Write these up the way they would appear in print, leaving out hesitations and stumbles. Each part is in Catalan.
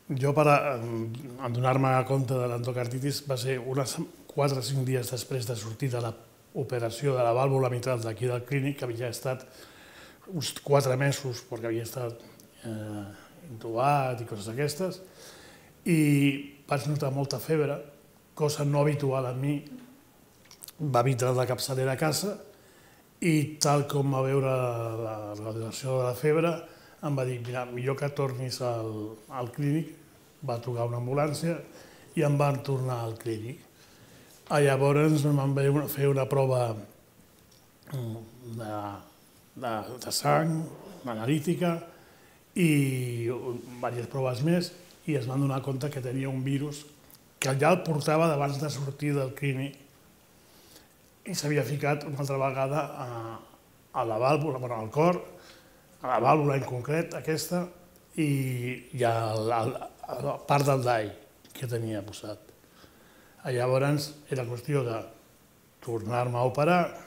Jo, per donar-me compte de l'endocarditis, va ser unes 4 o 5 dies després de sortir de l'operació de la vàlvula mitral d'aquí del clínic, que havia estat uns 4 mesos, perquè havia estat intubat i coses d'aquestes, i vaig notar molta febre, cosa no habitual en mi. Va vindre la capçalera a casa i, tal com va veure la radiació de la febre, em va dir: mira, millor que tornis al clínic. Va trucar una ambulància i em van tornar al clínic. Llavors em van fer una prova de sang, analítica, i diverses proves més, i es van donar compte que tenia un virus que ja el portava d'abans de sortir del clínic i s'havia ficat una altra vegada a la vàlvula, al cor, a la vàlvula en concret, aquesta, i a la part del dai que tenia posat. Llavors era qüestió de tornar-me a operar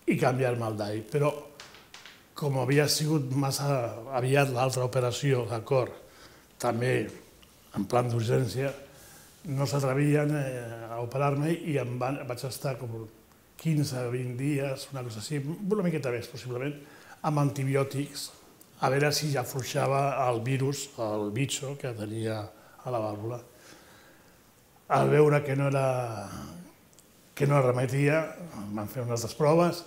i canviar-me el dai, però com havia sigut massa aviat l'altra operació de cor, també en plan d'urgència, no s'atrevien a operar-me i vaig estar com 15 o 20 dies, una cosa així, una miqueta més possiblement, amb antibiòtics, a veure si ja afluixava el virus, el bitxo que tenia a la vàlvula. Al veure que no remetia, van fer unes altres proves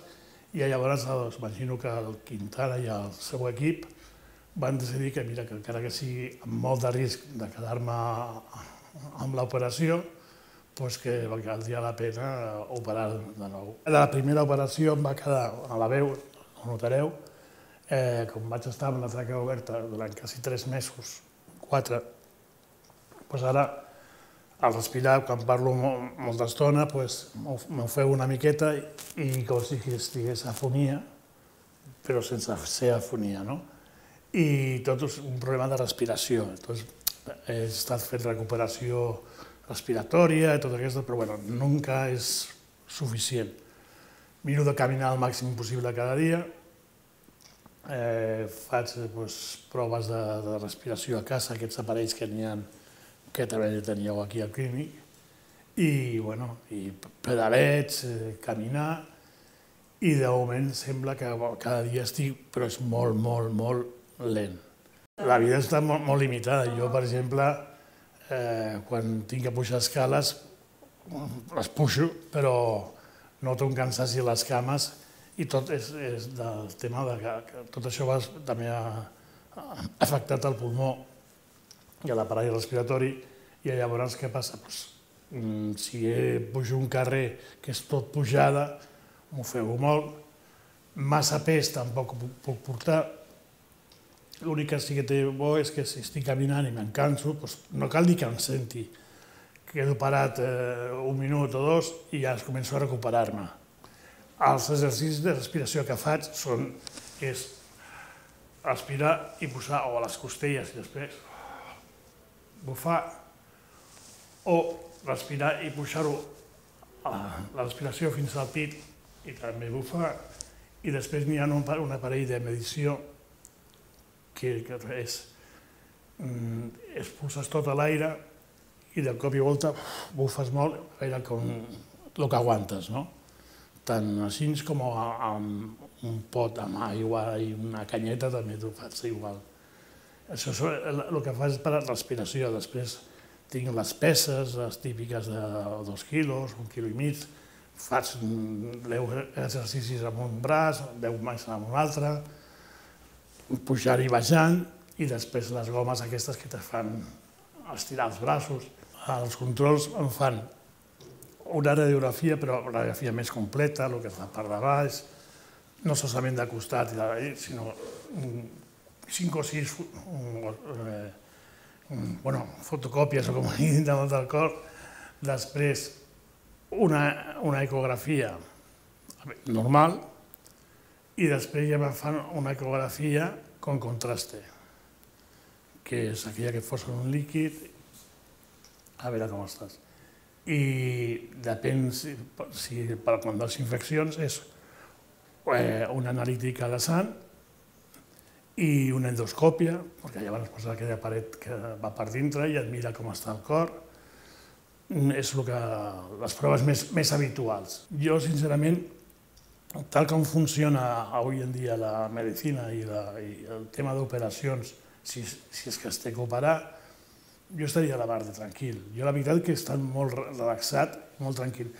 i llavors imagino que el Quintana i el seu equip van decidir que, mira, que encara que sigui amb molt de risc de quedar-me amb l'operació, que valdria la pena operar de nou. La primera operació em va quedar a la veu, ho notareu, com vaig estar amb la tràquea oberta durant quasi 3 mesos, 4, ara al respirar, quan parlo molta estona, m'ofego una miqueta i com si estigués afonia, però sense ser afonia, no? I tot és un problema de respiració. He estat fent recuperació respiratòria i tot aquesta, però nunca és suficient. Miro de caminar el màxim possible cada dia, faig proves de respiració a casa, aquests aparells que n'hi ha, que també teníeu aquí al clínic, i pedalets, caminar, i de moment sembla que cada dia estic, però és molt, molt, molt lent. La vida està molt limitada. Jo, per exemple, quan tinc que pujar escales, les pujo, però noto un cansaci a les cames, i tot és del tema que tot això també ha afectat el pulmó i a l'aparell respiratori, i llavors què passa? Si pujo un carrer que és tot pujada, m'ofego molt, massa pes tampoc puc portar. L'únic que sí que té bo és que si estic caminant i me'n canso, no cal dir que em senti. Quedo parat 1 minut o 2 i ja començo a recuperar-me. Els exercicis de respiració que faig és respirar i posar a les costelles i després bufar, o respirar i pujar-ho la respiració fins al pit i també bufar, i després n'hi ha un aparell de medició que expulses tot l'aire i de cop i volta bufes molt, a veure el que aguantes, no? Tant així com amb un pot amb aigua i una canyeta també t'ho fas igual. Això és el que fas per a la respiració. Després tinc les peses, les típiques de 2 quilos, 1,5 quilos, faig 10 exercicis amb un braç, 10 més amb un altre, pujar i baixant, i després les gomes aquestes que te fan estirar els braços. Els controls em fan una radiografia, però una radiografia més completa, el que fa per de baix, no solament de costat, sinó 5 o 6 fotocòpies, o com a dit, del cor. Després una ecografia normal, i després ja me fan una ecografia con contraste, que és aquella que posa un líquid, a veure com estàs. I depèn si per quan les infeccions és una analítica de sang i una endoscòpia, perquè llavors posa aquella paret que va per dintre i et mira com està el cor. És les proves més habituals. Jo, sincerament, tal com funciona avui en dia la medicina i el tema d'operacions, si és que es té que operar, jo estaria a la mar de tranquil. Jo la veritat que he estat molt relaxat, molt tranquil.